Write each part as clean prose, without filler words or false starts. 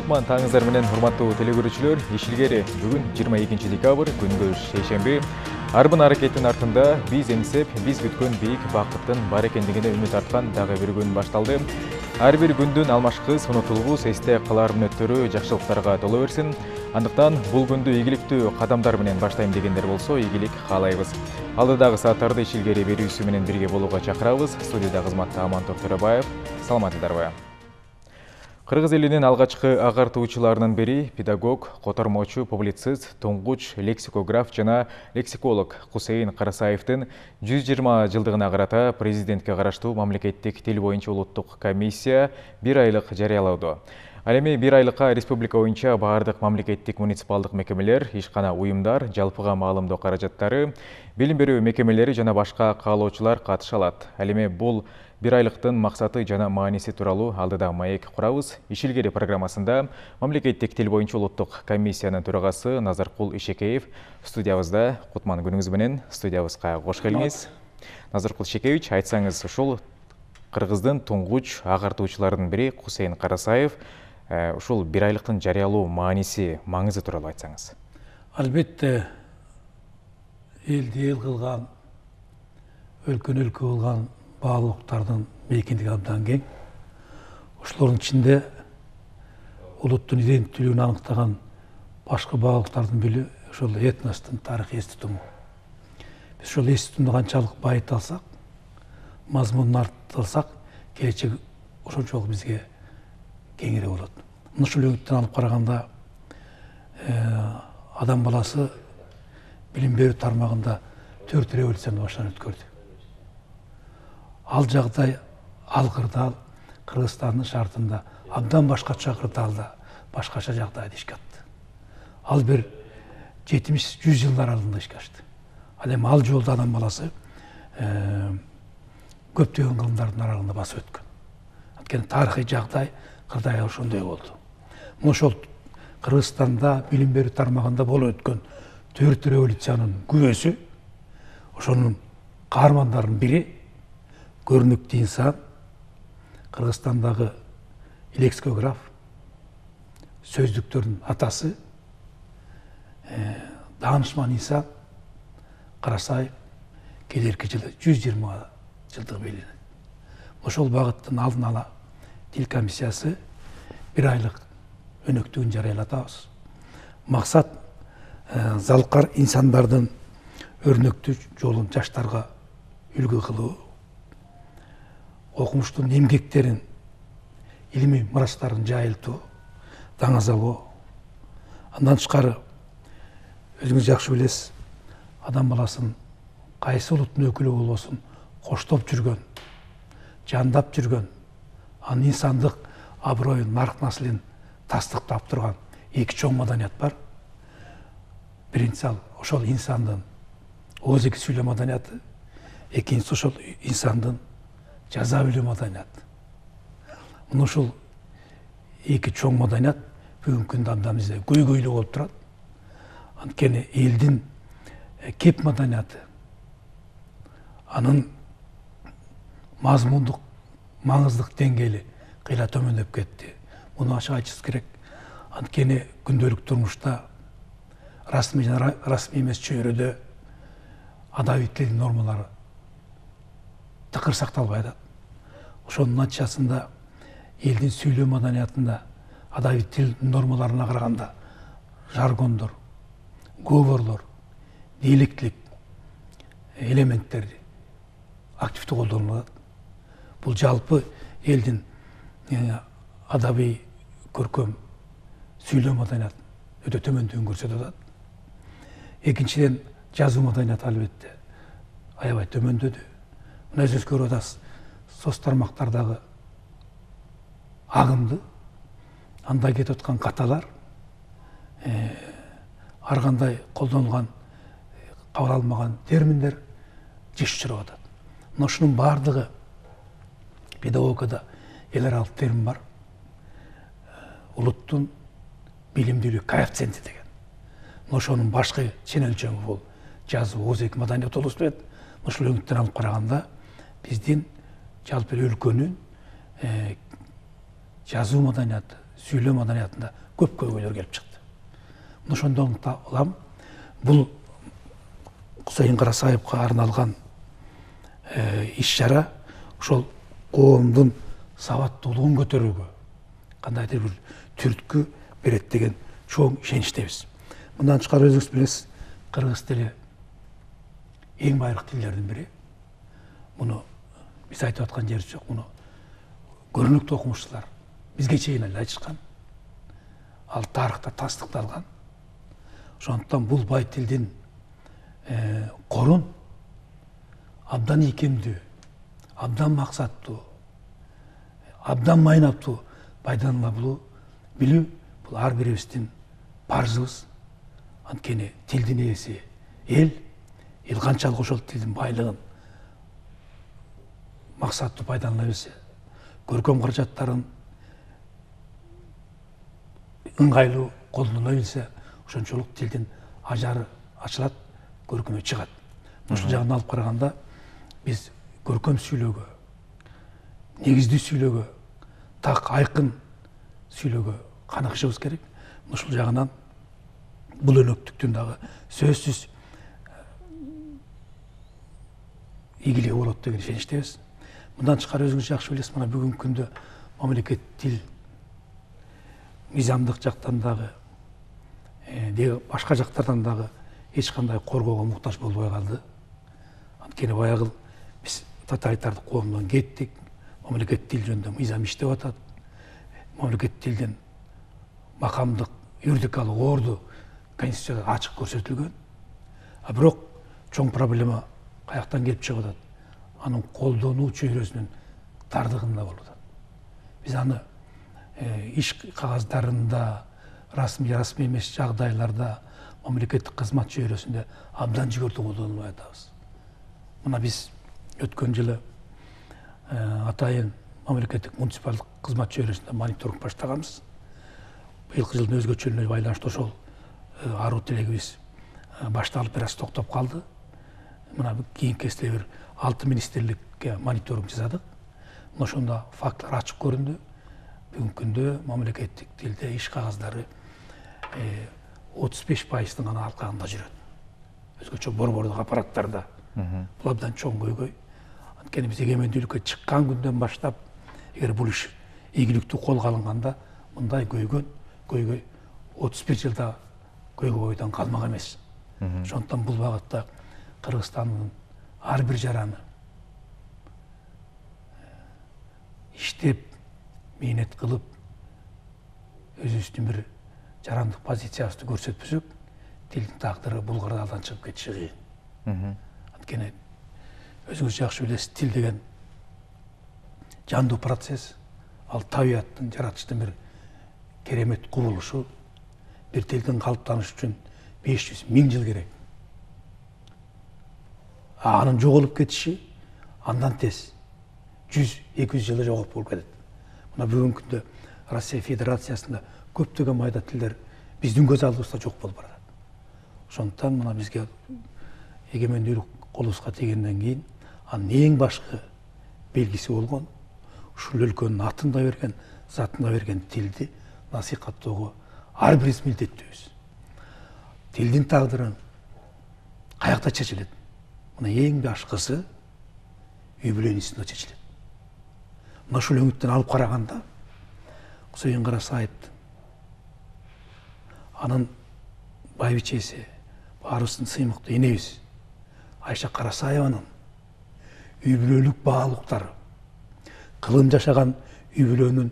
Кутман таңыңыздар менен урматтуу телекөрүүчүлөр. Иш илгери бүгүн 22 декабрь күнгө шейшемби. Арбын аракеттин артында биз эмсеп, биз күткөн бийик бакыттын бар экендигине үмүт арткан дагы бир күн башталды. Ар бир күндүн алмашкыс, унутулгус, эсте калар мүнөттөрү жакшылыктарга толо берсин. Андыктан бул күндү ийгиликтүү кадамдар менен баштайм дегендер болсо, ийгилик каалайбыз. Алдыдагы сааттарды иш илгери берүүсү менен бирге болууга чакырабыз. Студияда кызматта Амантор Төрөбаев. Саламатсыздарбы? Кыргыз элинин алгачкы агартуучуларынын бири педагог, котормочу, публицист, туңгуч лексикограф жана лексиколог Кусейин Карасаевдин 120 жылдыгына карата президентке караштуу мамлекеттик тил боюнча улуттук комиссия 1 айлык жарыялоодо. Ал эми 1 айлыкка республика боюнча баардык мамлекеттик муниципалдык мекемелер, ишкана уюмдар, жалпыга маалымдоо каражаттары, билим берүү мекемелери жана башка каалоочулар катыша алат. Ал эми бул 1 айлыктын максаты жана мааниси тууралуу алдыда маек курабыз. Иш илгери программасында мамлекеттик тил боюнча улуттук комиссиянын төрагасы Назаркул Ишекеев студиябызда. Кутман, күнүңүз менен студиябызга кош келиңиз. Назаркул Ишекевич, айтсаңыз, ушул Кыргыздын туңгуч агартуучуларынын бири Кусейин Карасаев ушул 1 айлыктын жарыялоо мааниси, маңызы тууралуу айтсаңыз. Албетте, элди эл кылган, өлкөнү өлкө кылган баалуулуктардын мейкиндиги абдан кең. Ошолордун ичинде улуттун иденттүүлүгүн аныктаган башкы баалуулуктардын бири ошол этностун тарыхый эс тутуму. Биз ошол эс тутумду канчалык байыта алсак, мазмунун арттыра алсак, келечек ошончолук бизге кеңирээк болот. Ушул өңүттөн алып караганда адам баласы билим берүү тармагында 4 революцияны баштан өткөрдү. Ал жагдай, ал кырдаал Кыргызстандын шартында абдан башкача кырдаалда, башкача жагдайда ишке атты. Ал бир 70-100 жылдар алдында ишке ашты. Ал эми ал жолдо адам баласы көптөгөн кылымдардын аралыгында басып өткөн. Анткени тарыхый жагдай кырдай ошондой болду. Ошол Кыргызстанда билим берүү тармагында болуп өткөн 4 революциянын күбөсү, ошонун каармандарынын бири көрүнүктүү инсан, Кыргызстандагы лексикограф, сөздүктөрдүн атасы, даанышман инсан Карасаев келерки жылы 120 жылдыгы белгиленет. Ошол багыттын алдын ала тил комиссиясы 1 айлык өнөктүгүн жарыялатабыз. Максат залкар инсандардын өрнөктүү жолун жаштарга үлгү кылуу, окумуштун эмгектерин, илимий мурастарын жайылтуу, даңазалоо. Андан тышкары, өзүңүз жакшы билесиз, адам баласын кайсы улуттун өкүлү болбосун коштоп жүргөн, жандап жүргөн, анын инсандык аброюн, нарк наслин тастыктап турган эки чоң маданият бар. Биринчиси ошол инсандын оозеки сүйлөө маданияты, экинчиси ошол инсандын жаза билүү маданияты. Мына ушул эки чоң маданият бүгүнкү күндө абдан бизде көйгөйлүү болуп турат. Анткени элдин кеп маданияты, анын мазмундук маңыздык деңгээли кыйла төмөндөп кетти. Муну ачык айтышыбыз керек. Анткени күндөлүк турмушта расмий жана расмий эмес чөйрөдө адабий тил нормалары тыкыр сакталбай атат. Ошонун натыйжасында элдин сүйлөө маданиятында адабий тил нормаларына караганда жаргондор, говорлор, диалектилик элементтер активдүү колдонулат. Бул жалпы элдин адабий көркөм сүйлөө маданиятын өтө төмөндүгүн көрсөтүп атат. Экинчиден, жазуу маданияты албетте аябай төмөндөдү. Мына өзүңүз көрүп атасыз, соц тармактардагы агымды, анда кетип аткан каталар, ар кандай колдонулган, кабыл алынмаган терминдер жиш учурап атат. Мына ушунун баардыгы педагогикада эл аралык термин бар. Улуттун билимдүүлүк коэффициенти деген. Ошонун башкы чен өлчөмү бул жазуу, оозеки маданият болуп өтөт. Ушул өңүттөн алып караганда биздин жалпы өлкөнүн жазуу маданияты, сүйлөө маданиятында көп көйгөйлөр келип чыкты. Ошондон улам бул Кусейин Карасаевка арналган иш-чара ошол коомдун сабаттуулугун көтөрүүгө кандайдыр бир түрткү берет деген чоң ишеничтебиз. Мындан тышкары өзүңүз билесиз, кыргыз тили эң байыркы тилдердин бири. Муну биз айтып аткан жерибиз жок. Муну көрүнүктүү окумуштуулар бизге чейин эле айтышкан. Ал тарыхта тастыкталган. Ошондуктан бул бай тилдин корун абдан ийкемдүү, абдан максаттуу, абдан майнаптуу пайдалана билүү бул ар бирибиздин парзыбыз. Анткени тилдин ээси эл канчалык ошол тилдин байлыгын максаттуу пайдалана билсе, көркөм каражаттарын ыңгайлуу колдоно билсе, ошончолук тилдин ажары ачылат, көркөмү чыгат. Ушул жагынан алып караганда биз көркөм сүйлөөгө, негиздүү сүйлөөгө, так айкын сүйлөөгө каныгышыбыз керек. Ушул жагынан бул өнөктүктүн дагы сөзсүз ийгилиги болот деген ишеничтебиз. Мындан тышкары өзүңүз жакшы билесиз, мына бүгүнкү күндө мамлекет тил мыйзамдык жактан дагы башка жактардан дагы эч кандай коргоого муктаж болбой калды. Анткени баягы биз тоталитардык коомдон кеттик. Мамлекет тил жөнүндө мыйзам иштеп атат. Мамлекет тилдин макамдык, юридикалык орду конституцияда ачык көрсөтүлгөн. А бирок чоң проблема каяктан келип чыгып атат? Анын колдонуу чөйрөсүнүн тардыгында болуп атат. Биз аны иш кагаздарында, расмий эмес жагдайларда, мамлекеттик кызмат чөйрөсүндө абдан жигердүү колдонбой атабыз. Мына биз өткөн жылы атайын мамлекеттик муниципалдык кызмат чөйрөсүндө мониторинг баштаганбыз. Быйылкы жылдын өзгөчөлүгүнө байланыштуу ошол аруу тилегибиз башталып бир аз токтоп калды. Мына кийинки кезде бир 6 министрликке мониторинг жасадык. Ошондо фактылар ачык көрүндү. Бүгүнкү күндө мамлекеттик тилде иш кагаздары 35% гана алкагында жүрөт. Өзгөчө борбордук аппараттарда. Бул абдан чоң көйгөй. Анткени биз эгемендүүлүккө чыккан күндөн баштап, эгер бул иш ийгиликтүү колго алынганда, мындай көйгөй 31 жылда көйгөйдөн калмак эмес. Ошондуктан бул багытта Кыргызстандын ар бир жараны иштеп, мээнет кылып, өзүбүздүн бир жарандык позициябызды көрсөтпөсөк, тилдин тагдыры бул кырдаалдан чыгып кетиши кыйын. Анткени өзүңүз жакшы билесиз, тил деген жандуу процесс, ал табияттын, жаратылыштын бир керемет кубулушу. Бир тилдин калыптанышы үчүн 500 000 жыл керек. Анын жоголуп кетиши андан тез 100-200 жылда жоголуп болуп кетет. Мына бүгүнкү күндө Россия Федерациясында көптөгөн майда тилдер биздин көз алдыбызда жок болуп барат. Ошондуктан мына бизге эгемендүүлүк колубузга тийгенден кийин анын эң башкы белгиси болгон ушул өлкөнүн атын да берген, затын да берген тилди насихаттоого ар бирибиз милдеттүүбүз. Тилдин тагдырын каякта чечилет? Мына эң башкысы үй бүлө институтунда чечилет. Мына ушул өңүттөн алып караганда Кусейин Карасаевдин, анын байбичеси, баарыбыздын сыймыктуу энебиз Айша Карасаеванын үй бүлөлүк баалуулуктары, кылым жашаган үй бүлөнүн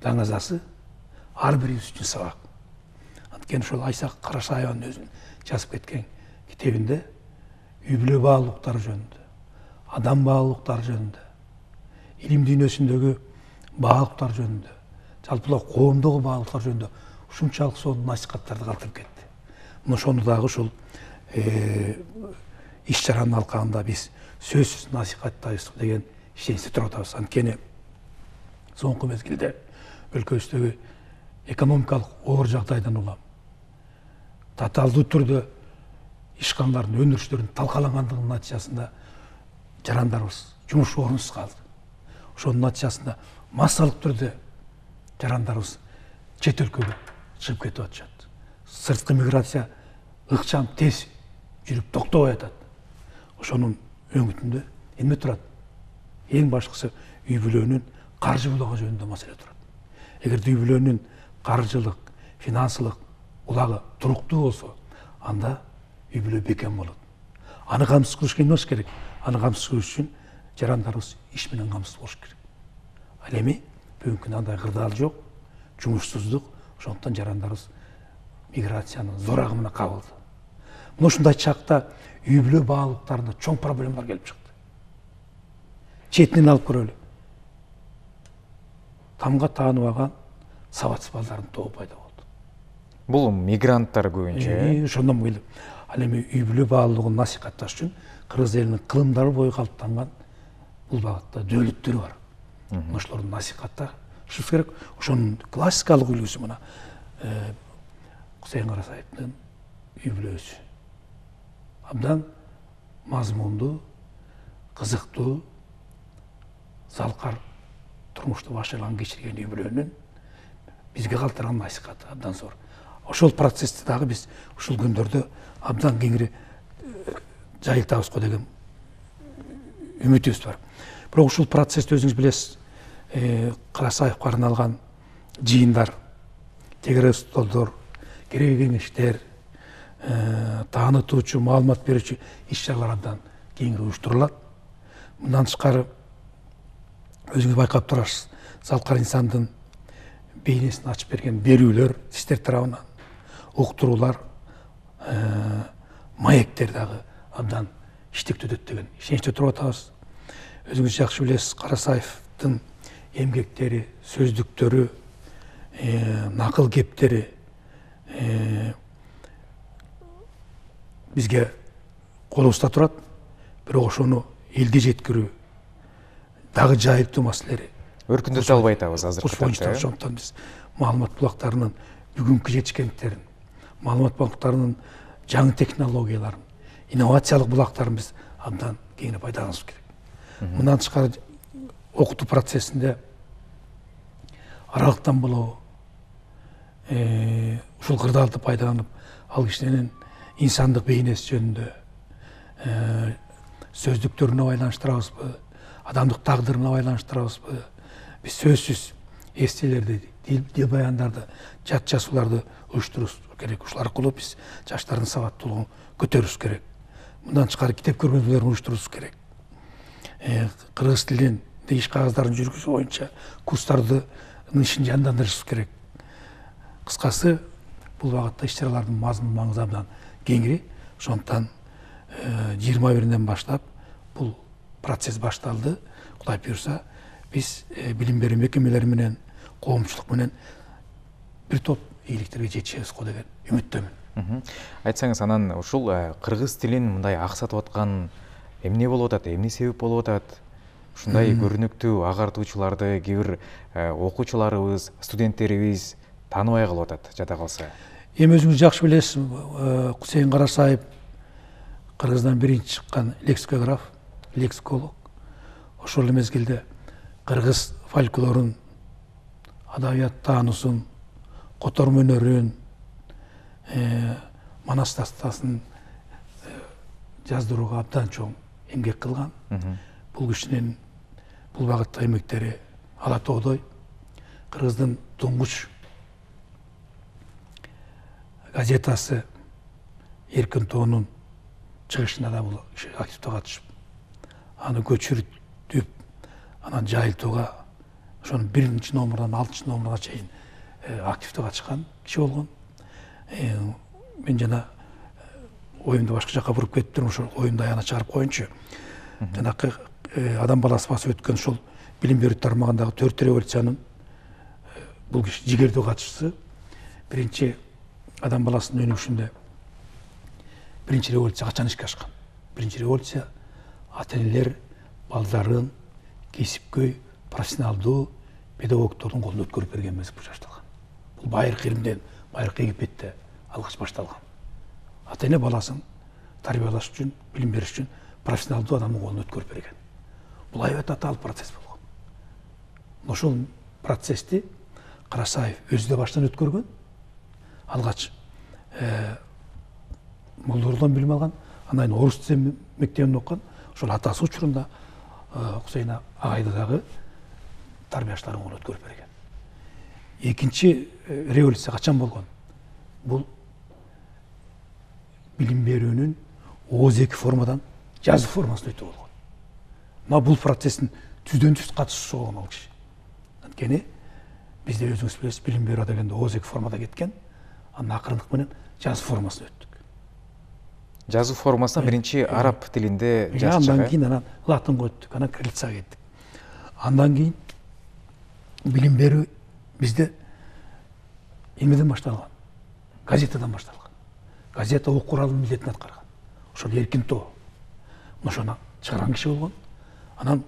даңазасы ар бирибиз үчүн сабак. Анткени ошол Айша Карасаеванын өзүнүн жазып кеткен китебинде үй бүлө баалуулуктары жөнүндө, адам баалуулуктары жөнүндө, илим дүйнөсүндөгү баалуулуктар жөнүндө, жалпылоо коомдогу баалуулуктар жөнүндө ушунчалык сонун насихаттарды калтырып кетти. Ошону дагы ушул иш-чаранын алкагында биз сөзсүз насихаттайбыз деген ишеничте туруп атабыз. Анткени соңку мезгилде өлкөбүздөгү экономикалык оор жагдайдан улам татаалдуу түрдө ишканалардын өндүрүштөрүнүн талкалангандыгынын натыйжасында жарандарыбыз жумуш орунсуз калды. Ошонун натыйжасында массалык түрдө жарандарыбыз чет өлкөгө чыгып кетип атышат. Сырткы миграция ыкчам тез жүрүп токтобой атат. Ошонун өңүтүндө эмне турат? Эң башкысы үй бүлөнүн каржы булагы жөнүндө маселе турат. Эгерде үй бүлөнүн каржылык, финансылык булагы туруктуу болсо, анда үй бүлө бекем болот. Аны камсыз кылыш эмне керек? Аны камсыз кылыш үчүн жарандарыбыз иш менен камсыз болуш керек. Ал эми бүгүнкү күндө андай кырдаал жок, жумушсуздук, ошондуктан жарандарыбыз миграциянын зор агымына кабылды. Мына ушундай чакта үй бүлө баалуулуктарында чоң проблемалар келип чыкты. Четинен алып көрөлү. Тамга тааныбаган сабатсыз балдардын тобу пайда болду. Бул мигранттар көбүнчө. Ошондон келип, ал эми үй бүлө баалуулугун насихатташ үчүн кыргыз элинин кылымдары бою калыптанган бул багытта дөөлөттөр бар. Ошолорду насихатташыбыз керек. Ошонун классикалык үлгүсү мына Кусейин Карасаевдин үй бүлөсү. Абдан мазмундуу, кызыктуу, залкар турмушту башынан кечирген үй бүлөнүн бизге калтырган насихаты абдан зор. Ошол процессти дагы биз ушул күндөрдө абдан кеңири жайылтабызго деген үмүтүбүз бар. Бирок ушул процессти өзүңүз билесиз, Карасаевге арналган жыйындар, тегере столдор, кереги кеңештер, таанытуучу, маалымат берүүчү иш-чаралар абдан кеңири уюштурулат. Мындан тышкары өзүңүз байкап турасыз, залкар инсандын бейнесин ачып берген берүүлөр сиздер тарабынан, уктуруулар, маектер дагы абдан иштиктүү өтөт деген ишеничте туруп атабыз. Өзүңүз жакшы билесиз, Карасаевдин эмгектери, сөздүктөрү, накыл кептери бизге колубузда турат, бирок ошону элге жеткирүү дагы жайылтуу маселелери өркүндөтө албай атабыз азыркы тапта. Ошондон биз маалымат булактарынын бүгүнкү жетишкендиктерин, маалымат булактарынын жаңы технологияларын, инновациялык булактарын биз абдан кеңири пайдаланышыбыз керек. Мындан тышкары окутуу процессинде аралыктан болобу ушул кырдаалды пайдаланып, ал кишинин инсандык бейнеси жөнүндө сөздүктөрүнө байланыштырабызбы, адамдык тагдырына байланыштырабызбы? Биз сөзсүз эстелерди, дил баяндарды, жат жазууларды уюштурубуз керек. Ушул аркылуу биз жаштардын сабаттуулугун көтөрүбүз керек. Мындан тышкары китеп көргөзмөлөрүн уюштурубуз керек. Кыргыз тилин иш кагыздарын жүргүзүү боюнча курстардын ишин жандандырышыбыз керек. Кыскасы, бул багытта иш-чаралардын мазмун маңызы абдан кеңири. Ошондуктан 21-ден баштап бул процесс башталды. Кудай буйрса, биз билим берүү мекемелери менен, коомчулук менен бир топ ийгиликтерге жетишебиз го деген үмүттөмүн. Айтсаңыз, анан ушул кыргыз тилин мындай аксатып аткан эмне болуп атат, эмне себеп болуп атат? Ушундай көрүнүктүү агартуучуларды кээ бир окуучуларыбыз, студенттерибиз тааныбай калып атат, жада калса. Эми өзүңүз жакшы билесиз, Кусейин Карасаев Кыргыздан биринчи чыккан лексикограф, лексиколог. Ошол мезгилде кыргыз фольклорун, адабият таануусун, котормо өнөрүн, манас дастасын жаздырууга абдан чоң эмгек кылган. Бул кишинин бул багытта эмгектери ала тоодой. Кыргыздын туңгуч газетасы Эркин тоонун чыгышына да бул киши активдүү катышып, аны көчүрүп, анан жайылтууга ошонун 1-номурдан 6-номуруна чейин активдүү катышкан киши болгон. Мен жана оюмду башка жака буруп кетиптирмин, ошол оюмду аягына чыгарып коеюнчу. Жанакы адам баласы басып өткөн ошол билим берүү тармагындагы 4 революциянын бул киши жигердүү катышчысы. Биринчи адам баласынын өнүгүшүндө биринчи революция качан ишке ашкан? Биринчи революция ата-энелер балдарын кесипкөй, профессионалдуу педагогдордун колуна өткөрүп берген мезгил башталган. Бул байыркы Римден, байыркы Египетте алгач башталган. Ата-эне баласын тарбиялаш үчүн, билим бериш үчүн профессионалдуу адамдын колуна өткөрүп берген. Бул аябай татаал процесс болгон. Ошол процессти Карасаев өзү да баштан өткөргөн. Алгач Молдордон билим алган, андан кийин орус тил мектебинде окуган. Ошол атасы учурунда Кусейин агайды дагы тарбияштарын колуна өткөрүп берген. Экинчи революция качан болгон? Бул билим берүүнүн ооз эки формадан жазуу формасына өтүү болгон. Мына бул процесстин түздөн түз катышуучусу болгон ал киши. Анткени бизде өзүңүз билесиз, билим берүү дегенде ооз эки формада кеткен, анан акырындык менен жазуу формасына өттүк. Жазуу формасына биринчи араб тилинде жазчак. Андан кийин анан латынга өттүк, анан кириллицага кеттик. Андан кийин билим берүү бизде эмнеден башталган? Газетадан башталган. Газета окуу куралынын милдетин аткарган. Ошол Эркин Тоо. Ошону чыгарган киши болгон. Анан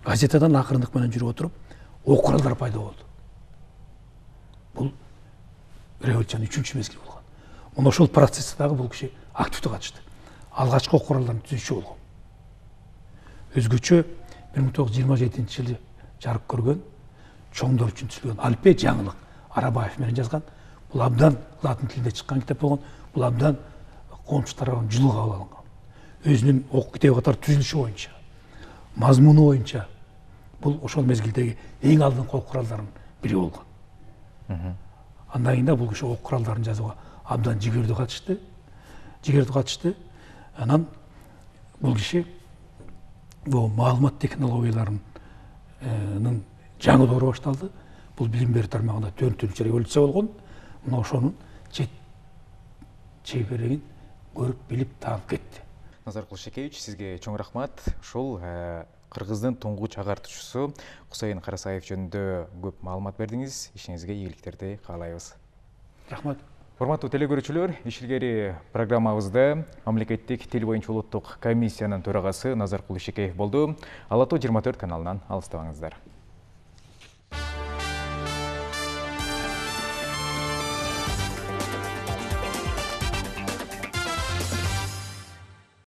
газетадан акырындык менен жүрүп отуруп, окуу куралдар пайда болду. Бул революциянын 3-чү мезгили болгон. Мына ошол процессте дагы бул киши активдүү катышты. Алгачкы окуу куралдарын түзүүчү болгон. Өзгөчө 1927-жылы жарык көргөн, чоңдор үчүн түзүлгөн Алпе жаңылык Арабаев менен жазган. Бул абдан латын тилинде чыккан китеп болгон. Бул абдан коомчу тарабынан жылуу кабыл алынган. Өзүнүн окуу китеби катары түзүлүшү боюнча, мазмуну боюнча бул ошол мезгилдеги эң алдыңкы окуу куралдардын бири болгон. Андан кийин бул киши окуу куралдарын жазууга абдан жигердүү катышты. Анан бул киши бул маалымат технологияларынын жаңы доору башталды. Бул билим берүү тармагында 4-чү революция болгон. Мына ошонун чеберегин көрүп билип таап кетти. Назар Кулшекевич, сизге чоң рахмат. Ушул Кыргыздын туңгуч агартуучусу Кусейин Карасаев жөнүндө көп маалымат бердиңиз. Ишиңизге ийгиликтерди каалайбыз. Рахмат. Урматтуу телекөрүүчүлөр, иш илгери программабызда мамлекеттик тил боюнча улуттук комиссиянын төрагасы Назар Кулшекеев болду. Ала Тоо 24 каналынан алыстабаңыздар.